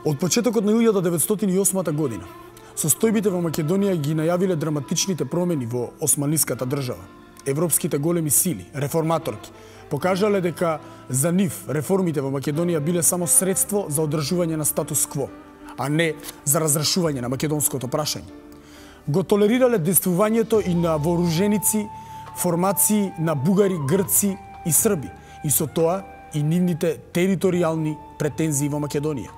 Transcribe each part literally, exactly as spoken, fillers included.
Од почетокот на илјада деветстотини и осма година, состојбите во Македонија ги најавиле драматичните промени во османлиската држава. Европските големи сили, реформаторки, покажале дека за нив реформите во Македонија биле само средство за одржување на статус кво, а не за разрешување на македонското прашање. Го толерирале действувањето и на вооруженици, формации на бугари, грци и срби, и со тоа и нивните територијални претензии во Македонија.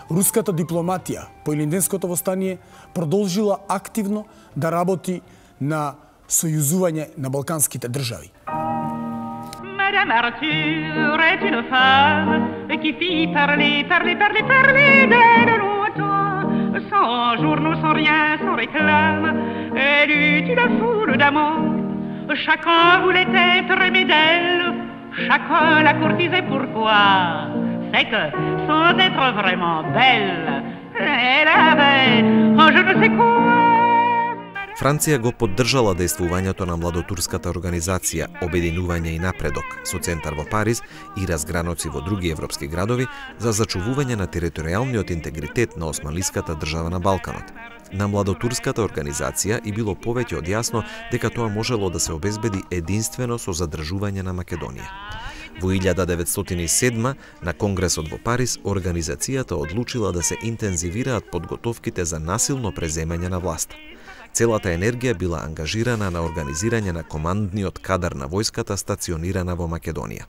Руската дипломатија по Илинденското востание продолжила активно да работи на сојузување на балканските држави. Madame Arthur est une femme qui fit parler, parler, parler, parler d'elle longtemps, sans journaux, sans rien, sans réclame. Elle eut une foule d'amants, chacun voulait être aimé d'elle, chacun la courtisait. Pourquoi? C'est que, sans être vraiment belle, elle avait un je ne sais quoi. Франција го поддржала действувањето на младотурската организација Обединување и напредок со центар во Париз и разграноци во други европски градови за зачувување на територијалниот интегритет на османлиската држава на Балканот. На младотурската организација и било повеќе од јасно дека тоа можело да се обезбеди единствено со задржување на Македонија. Во илјада деветстотини и седма на Конгресот во Париз организацијата одлучила да се интензивираат подготовките за насилно преземање на власта. Целата енергија била ангажирана на организирање на командниот кадар на војската стационирана во Македонија.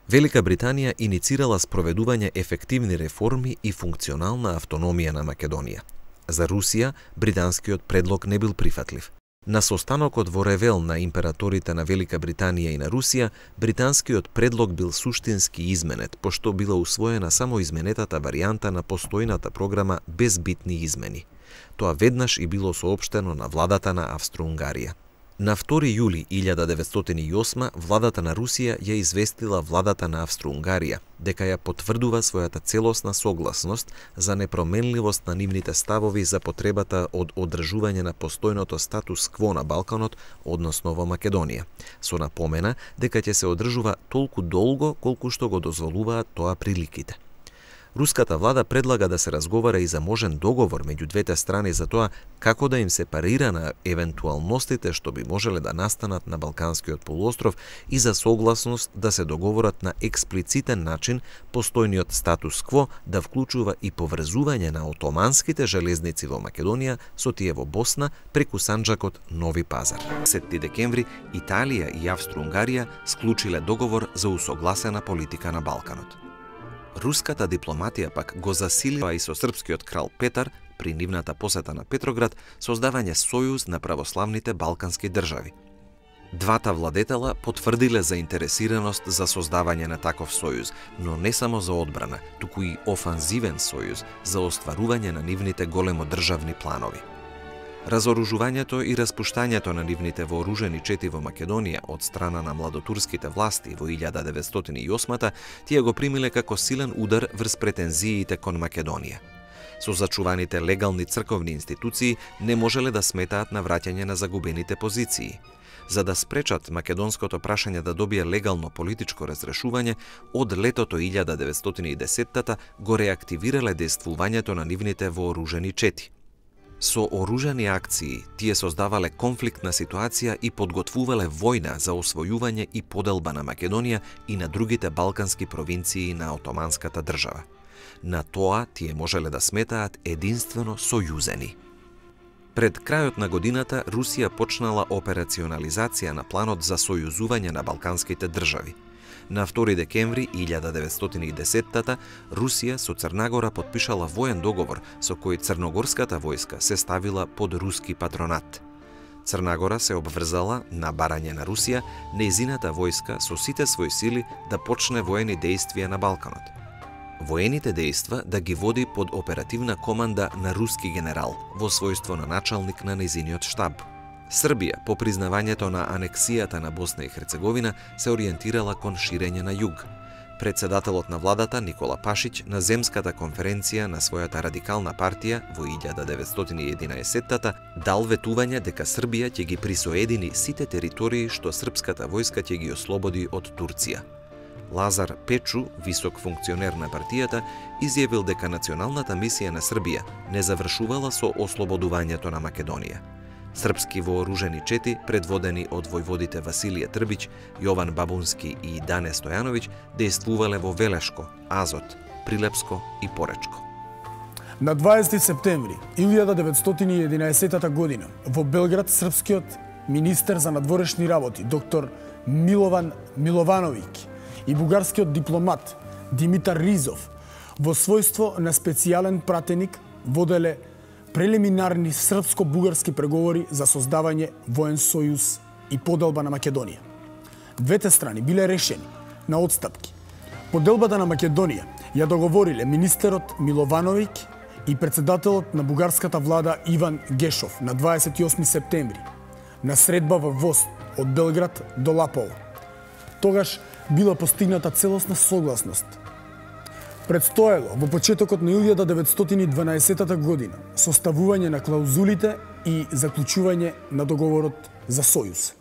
Велика Британија иницирала спроведување ефективни реформи и функционална автономија на Македонија. За Русија, британскиот предлог не бил прифатлив. На состанокот во Ревел на императорите на Велика Британија и на Русија, британскиот предлог бил суштински изменет, пошто била усвоена само изменетата варијанта на постојната програма без битни измени. Тоа веднаш и било соопштено на владата на Австро-Унгарија. На втори јули илјада деветстотини и осма владата на Русија ја известила владата на Австро-Унгарија дека ја потврдува својата целосна согласност за непроменливост на нивните ставови за потребата од одржување на постојното статус кво на Балканот, односно во Македонија, со напомена дека ќе се одржува толку долго колку што го дозволуваат тоа приликите. Руската влада предлага да се разговара и за можен договор меѓу двете страни за тоа како да им се парира на евентуалностите што би можеле да настанат на Балканскиот полуостров и за согласност да се договорат на експлицитен начин постојниот статус кво да вклучува и поврзување на отоманските железници во Македонија со тие во Босна преку санџакот Нови Пазар. десети декември Италија и Австро-Унгарија склучиле договор за усогласена политика на Балканот. Руската дипломатија пак го засилила и со српскиот крал Петар при нивната посета на Петроград создавање сојуз на православните балкански држави. Двата владетела потврдиле заинтересираност за создавање на таков сојуз, но не само за одбрана, туку и офанзивен сојуз за остварување на нивните големодржавни планови. Разоружувањето и распуштањето на нивните вооружени чети во Македонија од страна на младотурските власти во илјада деветстотини и осма тие го примиле како силен удар врз претензиите кон Македонија. Со зачуваните легални црковни институции не можеле да сметаат на враќање на загубените позиции. За да спречат македонското прашање да добие легално политичко разрешување, од летото илјада деветстотини и десета го реактивирале действувањето на нивните вооружени чети. Со оружени акции тие создавале конфликтна ситуација и подготвувале војна за освојување и поделба на Македонија и на другите балкански провинции на Отоманската држава. На тоа тие можеле да сметаат единствено сојузени. Пред крајот на годината Русија почнала операционализација на планот за сојузување на балканските држави. На втори декември илјада деветстотини и десета Русија со Црнагора потпишала воен договор со кој црногорската војска се ставила под руски патронат. Црнагора се обврзала на барање на Русија нејзината војска со сите своји сили да почне воени дејствија на Балканот. Воените дејства да ги води под оперативна команда на руски генерал во својство на началник на нејзиниот штаб. Србија, по признавањето на анексијата на Босна и Херцеговина, се ориентирала кон ширење на југ. Председателот на владата Никола Пашиќ на земската конференција на својата радикална партија во илјада деветстотини и единаесета дал ветување дека Србија ќе ги присоедини сите територии што српската војска ќе ги ослободи од Турција. Лазар Печу, висок функционер на партијата, изјавил дека националната мисија на Србија не завршувала со ослободувањето на Македонија. Српски вооружени чети, предводени од војводите Василije Трбиć, Јован Бабунски и Дане Стојановиќ, дејствувале во Велешко, Азот, Прилепско и Поречко. На дваесети септември илјада деветстотини и единаесетта година во Белград српскиот министер за надворешни работи доктор Милован Миловановиќ и бугарскиот дипломат Димитар Ризов во својство на специјален пратеник воделе прелиминарни српско-бугарски преговори за создавање воен сојуз и поделба на Македонија. Двете страни биле решени на отстапки. Поделбата на Македонија ја договориле министерот Миловановиќ и председателот на бугарската влада Иван Гешов на дваесет и осми септември на средба во Вост од Белград до Лаполо. Тогаш била постигната целосна согласност. Предстоело во почетокот на илјада деветстотини и дванаесетта година составување на клаузулите и заклучување на договорот за сојуз.